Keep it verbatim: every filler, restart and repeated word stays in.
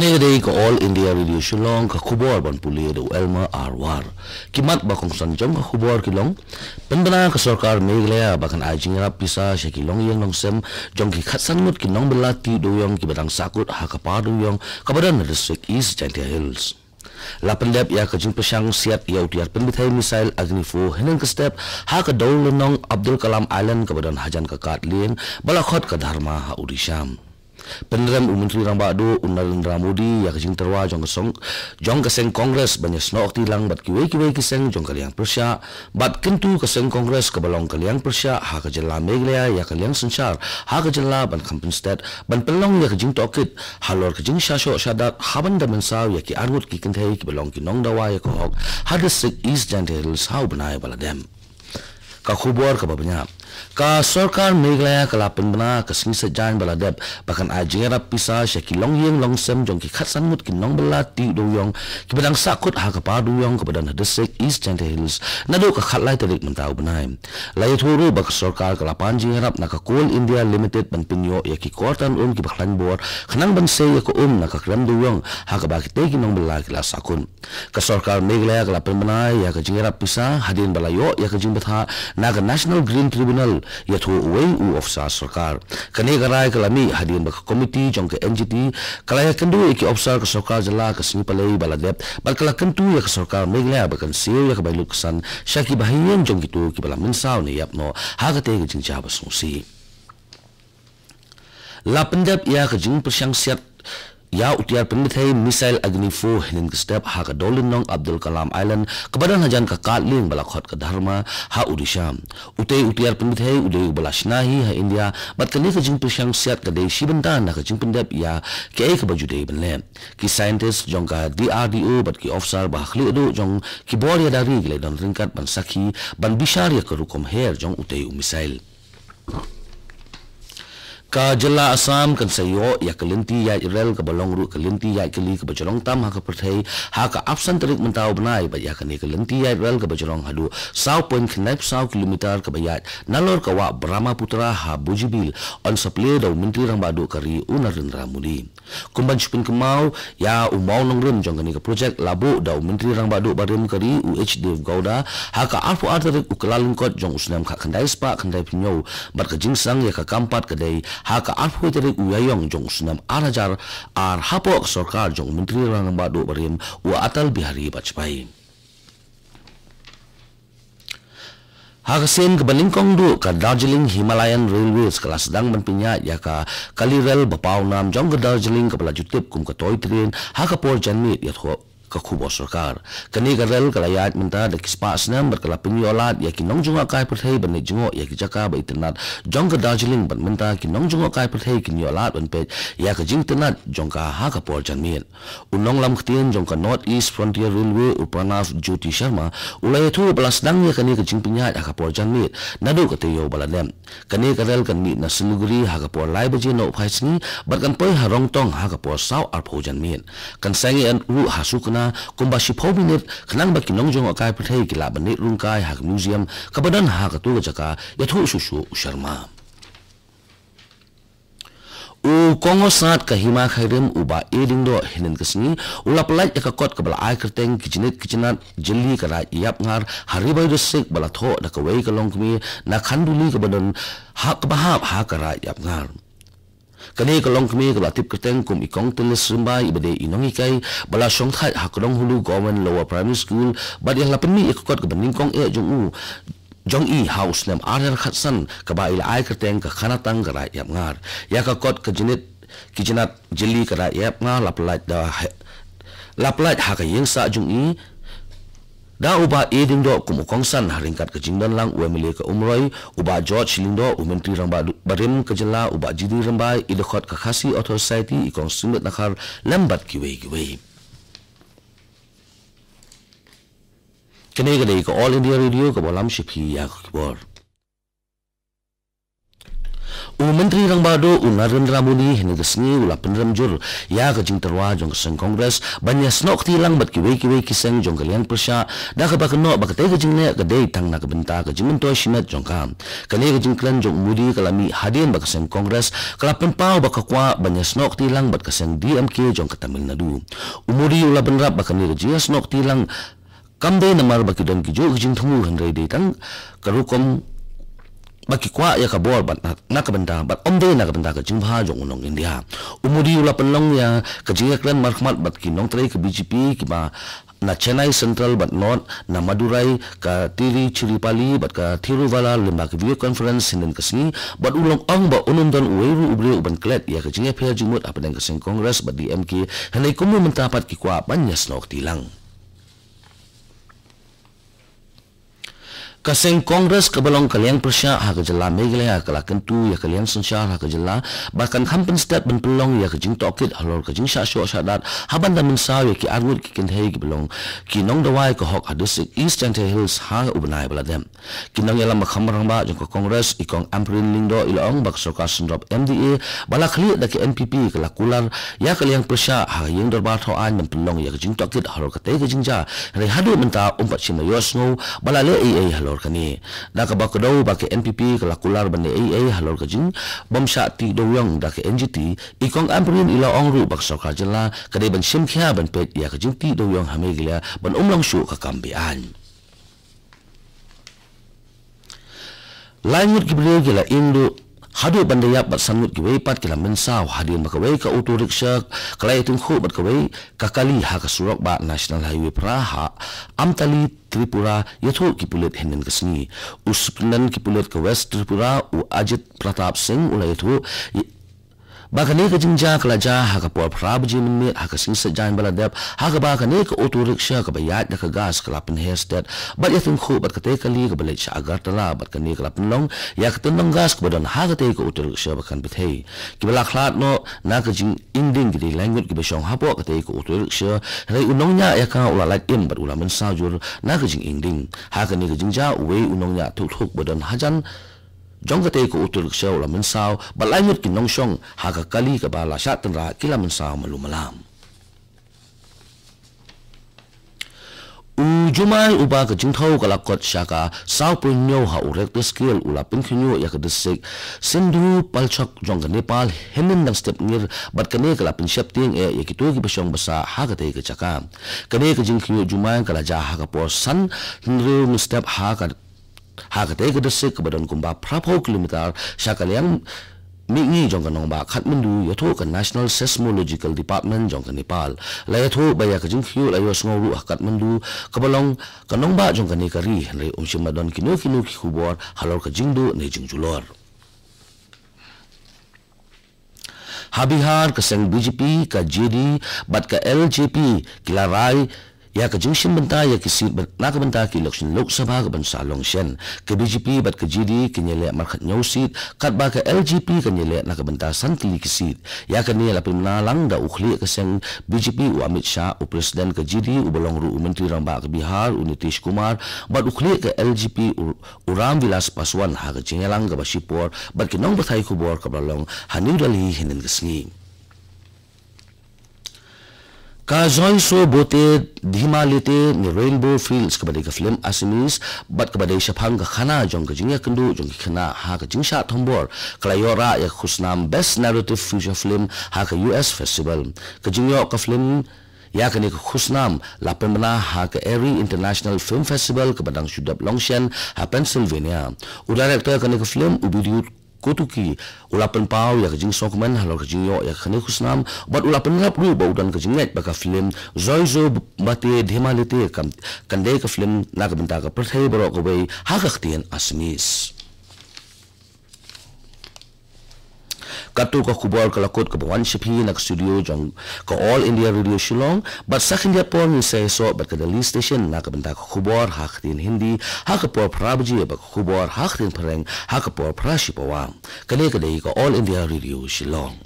Ka dei ka All India Radio Shillong, ka khubor ban pule da u Elmer R War. Ki mat ba kongsan jong ka khubor ki long: pynbna ka sorkar Meghalaya ba kan ai jingïarap pisa sha ki longïing longsem jong ki khatsan ngut ki nongbylla tiew dewiong kiba dang sahkut ha ka par dewiong kaba don ha district East Jaintia Hills. La pyndep ïa ka jingpyrshang siat ïa u tiar pynbthei missile Agni four hynnin ka step ha ka dewlynnong Abdul Kalam Island kaba don hajan ka kad lieng ba la khot ka Dharma ha Odisha. Pynrem u Myntri Rangbah Duh u Narendra Modi ïa ka jingtyrwa jong ka seng, jong ka seng Congress ban ïasnoh kti lang bad kiwei kiwei ki seng jong ka liang pyrshah, bad kyntu ka seng Congress kaba long ka liang pyrshah ha ka jylla Meghalaya ïa ka liang synshar ha ka jylla ban kham pynsted ban pynlong ïa ka jingtohkit halor ka jingshah shoh shah dat, haba da mynsaw ïa ki arngut ki kynthei kiba long ki nongdawa ïa ka hok ha district East Jaintia Hills ha u bnai ba la dep. Ka khubor kaba bniah. Ka sorkar Meghalaya ka la pynbna ka sngi Saitjaiñ ba la dep ba kan ai jingïarap pisa sha ki longïing longsem jong ki khatsan ngut ki nongbylla tiew dewiong kiba dang sahkut ha ka par dewiong kaba don ha district East Jaintia Hills naduh ka khatlai tarik mynta u bnai. La ïathuh ruh ba ka sorkar ka la pan jingïarap na ka Coal India Limited ban pynïoh ïa ki kor tan um kiba khlaiñ bor khnang ban sei ïa ka um na ka krem dewiong ha kaba kitei ki nongbylla ki la sahkut. Ka sorkar Meghalaya ka la pynbna ïa ka jingïarap pisa hadien ba la ïoh ïa ka jingbthah na ka National Green Tribunal, ïathuh uwei u officer sorkar. Kane ka rai ka la mih hadien ba ka komiti jong ka N G T ka la ïakynduh ïa ki officer ka sorkar jylla ka sngi Palei ba la dep bad ka la kyntu ïa ka sorkar Meghalaya ba kan siew ïa ka bynlut ksan sha kiba ha ïing jong kito kiba la mynsaw ne ïap noh ha katei ka jingjia ba sngewsih. La pyndep ïa ka jingpyrshang siat ïa u tiar pynbthei missile Agni four hynnin ka step ha ka dewlynnong Abdul Kalam Island kaba don hajan ka kad lieng ba la khot ka Dharma ha Odisha. Utei u tiar pynbthei u dei uba la shna hi ha India bad kane ka jingpyrshang siat ka dei shi bynta na ka jingpyndep ïa kaei kaba ju dei ban leh. Ki scientist jong ka D R D O bad ki officer ba ha khlieh duh jong ki bor ïada ri ki la don ryngkat ban sakhi ban bishar ïa ka rukom her jong utei u missile. Ka jylla Assam kan sa ïoh ïa ka lynti ïaid rel kaba long ruh ka lynti ïaid kali kaba jrong tam ha ka pyrthei ha ka arphew san tarik mynta u bnai, bad ïa kane ka lynti ïaid rel kaba jrong haduh saw point khyndai phew saw kilometer kaba ïaid nalor ka wah Brahmaputra ha Bougainville yn sa plie da u Myntri Rangbah Duh ka ri u Narendra Modi. Kum ban shu pynkynmaw ïa u mawnongrim jong kane ka projek la buh da u Myntri Rangbah Duh barim ka ri u H Devgowda ha ka arphew ar tarik u Kyllalyngkot jong u snem khatkhyndai spah khyndai phew hynñiew, bad ka jingsang ïa ka kam pat ka dei ha ka arphew tarik u Ïaïong jong u snem ar hajar ar hapoh ka sorkar jong u Myntri Rangbah Duh barim u Atal Bihari Vajpayee. Ha ka sien kaba nyngkong duh, ka Darjeeling Himalayan Railways ka la sdang ban pynïaid ïa ka kali rel ba paw nam jong ka Darjeeling kaba la ju tip kum ka toy train ha ka por janmiet, ïathuh ka khubor sorkar. Kane ka rel ka la ïaid mynta da ki spah snem bad ka la pynïoh lad ïa ki nongjngohkai pyrthei ban leit jngoh ïa ki jaka ba itynnat jong ka Darjeeling, bad mynta ki nongjngohkai pyrthei kin ïoh lad ban peit ïa ka jingitynnat jong ka ha ka por janmiet. U nonglam ktien jong ka North East Frontier Railway u Pranav Jyoti Sharma u la ïathuh ba la sdang ïa kane ka jingpynïaid ha ka por janmiet naduh ka taïew ba la dep. Kane ka rel kan mih na Siliguri ha ka por lai baje nohphaisngi bad kan poi ha Rongtong ha ka por saw arphew janmiet. Kan sangeh ruh ha Sukna kumba shiphew minit khnang ba ki nongjngohkai pyrthei ki lah ban leit rung kai ha ka museum kaba don ha kato ka jaka, ïathuh shuh shuh u Sharma. U Kongosat ka Hima Khyrim u Bah A Diengdoh hynnin ka sngi u la pyllait ïa ka kot kaba la ai kyrteng ki jnit ki jnat jylli ka Raid Ïapngar ha Ri Bhoi District ba la thoh da kawei ka longkmie na Khanduli kaba don ha kaba hap ha ka Raid Ïapngar. Kane ka longkmie kaba la tip kyrteng kum i Kong Tynlis Rymbai iba dei i nonghikai ba la shongthait ha Kdonghulu Government Lower Primary School bad ïa la pynmih ïa ka kot kaba nyngkong eh jong u jong i ha u snem ar hajar khatsan kaba i la ai kyrteng ka Khanatang ka Raid Ïapngar. Ïa ka kot ka jnit ki jnat jylli ka Raid Ïapngar la pyllait da he-, la pyllait ha ka ïingsah jong i da u Bah A Diengdoh kum u kongsan ha ryngkat ka jingdon lang u M L A ka Umroi, u Bah George Lyngdoh, u Myntri Rangbah barim ka jylla, u Bah G D Rymbai, i dkhot ka Khasi Authors Society, i Kong Symmet Dkhar lem bad kiwei kiwei. Kane ka dei ka All India Radio kaba lam sha phi ïa ka khubor. U Myntri Rangbah Duh u Narendra Modi hynne ka sngi u la pynrem jur ïa ka jingtyrwa jong ka seng Congress ban ïasnoh kti lang bad kiwei kiwei ki seng jong ka liang pyrshah, da kaba kynnoh ba katei ka jingleh ka dei tang na ka bynta ka jingmyntoi shimet jong ka. Kane ka jingkren jong u Modi ka la mih hadien ba ka seng Congress ka la pynpaw ba ka kwah ban ïasnoh kti lang bad ka seng D M K jong ka Tamil Nadu. U Modi u la bynrap ba kane ka jingïasnoh kti lang kam dei namar ba ki don ki juh ki jingthmu, hynrei dei tang ka rukom ba ki kwah ïa ka bor bad na, na ka bynta bad ym dei na ka bynta ka jingbha jong u nong India. U Modi u la pynlong ïa ka jingïakren markhmat bad ki nongtrei ka B J P kiba na Chennai Central bad North, na Madurai, ka Tiruchirappalli bad ka Thiruvallur lyngba ka video conference hynnin ka sngi, bad u la ong ba un ym don uwei ruh u briew uban klet ïa ka jingïapher jingmut hapdeng ka seng Congress bad D M K, hynrei kumno mynta pat ki kwah ban ïasnoh kti lang. Ka seng Congress kaba long ka liang pyrshah ha ka jylla Meghalaya ka la kyntu ïa ka liang synshar ha ka jylla ba kan kham pynstep ban pynlong ïa ka jingtohkit halor ka jingshah shoh shah dat, ha ban da mynsaw ïa ki arngut ki kynthei kiba long ki nongdawai ka hok ha District East Jaintia Hills ha u bnai ba la dep. Ki nongïalam ba kham rangbah jong ka Congress, i Kong Ampareen Lyngdoh, i la ong ba ka sorkar synrop M D A ba la khlieh da ka N P P ka la kular ïa ka liang pyrshah ha ka ïing dorbar thaw aiñ ban pynlong ïa ka jingtohkit halor katei ka jingjia, hynrei haduh mynta ym pat shym la ïohsngew ba la leh ei ei halor kane. Da kaba kdew ba ka N P P ka la kular ban leh ei ei halor ka jingbymshah tih dewiong da ka N G T, i Kong Ampareen i la ong ruh ba ka sorkar jylla ka dei ban shim khia ban peit ïa ka jingtih dewiong ha Meghalaya ban ym long shuh ka kam be-aiñ. Lai ngut ki briew ki la ïeng duh haduh ban da ïap bad san ngut kiwei pat ki la mynsaw hadien ba kawei ka auto rickshaw ka la ïatyngkhuh bad kawei ka kali ha ka surok bah National Highway phra ha Amtali, Tripura, ïathuh ki pulit hynnin ka sngi. U Superintendent ki pulit ka West Tripura, u Ajit Pratap Singh, u la ïathuh ba kane ka jingjia ka la jia ha ka por phra baje mynmiet ha ka sngi Saitjaiñ ba la dep, ha kaba kane ka auto rickshaw kaba ïaid da ka gas ka la pynher stet bad ïatyngkhuh bad katei ka kali kaba leit sha Agartala, bad kane ka la pynlong ïa ka tyndong gas kaba don ha katei ka auto rickshaw ba kan pyrthei. Kiba la khlad noh na ka jingïeng ding ki dei lai ngut kiba shong hapoh katei ka auto rickshaw, hynrei u nongñiah ïa ka u la lait im bad u la mynsaw jur na ka jingïeng ding. Ha kane ka jingjia uwei u nongñiah thuk thuk ba don hajan jong katei ka auto rickshaw u la mynsaw, bad lai ngut ki nongshong ha ka kali kaba la shah tynrah ki la mynsaw malu malam. U jumai uba ka jingthew ka la kot sha ka saw point hynñiew ha u Richter scale u la pynkhynñiuh ïa ka district Sindhupalchok jong ka Nepal hynnin dang step ngir, bad kane ka la pynsheptieng eh ïa kito kiba shong basa ha katei ka jaka. Kane ka jingkhynñiuh jumai ka la jia ha ka por san hynriew mynstep ha ka ha katei ka district kaba don kumba phraphew kilometer sha ka liang mihngi jong ka nongbah Kathmandu, ïathuh ka National Seismological Department jong ka Nepal. La ïathuh ba ïa ka jingkhynñiuh la ïohsngew ruh ha Kathmandu kaba long ka nongbah jong kane ka ri, hynrei ym shym la don kino kino ki khubor halor ka jingduh ne jingjulor. Ha Bihar, ka seng B J P, ka J D bad ka L J P ki la rai ïa ka jingshim bynta ïa ki seat na ka bynta ka election Lok Sabha kaban sa long shen. Ka B J P bad ka J D kin ïaleh markhat hynñiew seat, katba ka L J P kan ïaleh na ka bynta san tylli ki seat. Ïa kane la pynbna lang da u khlieh ka seng B J P u Amit Shah, u President ka J D uba long ruh u Myntri Rangbah ka Bihar u Nitish Kumar, bad u khlieh ka L J P u u Ram Vilas Paswan ha ka jingïalang kaba shipor bad ki nongpathai khubor kaba la long ha New Delhi hynnin ka sngi. Ka Joi So Bote Dhima Lete ne Rainbow Fields, kaba dei ka film Assamese bad kaba dei shaphang ka khana jong ka jingïakynduh jong ki khynnah ha ka jingshah thombor, ka la ïoh rah ïa ka khusnam Best Narrative Feature Film ha ka U S Festival. Ka jingïoh ka film ïa kane ka khusnam la pynbna ha ka Erie International Film Festival kaba dang shu dep long shen ha Pennsylvania. U director kane ka film, u Bidyut Kotuki, u la pynpaw ïa ka jingsngewkmen halor ka jingïoh ïa kane ka khusnam bad u la pynrap ruh ba u don ka jingngeit ba ka film Joi So Bote Dhima Lete kan, kan dei ka film na ka bynta ka pyrthei baroh kawei ha ka ktien Assamese. Katto ka khubor ka la kut kaba wan sha phi na ka studio jong ka All India Radio Shillong, bad sa khyndiat por ngin sa ïasoh bad ka Delhi Station na ka bynta ka khubor ha ka ktien Hindi ha ka por phra baje bad ka khubor ha ka ktien Phareng ha ka por phra shi pawa. Kane ka dei ka All India Radio Shillong.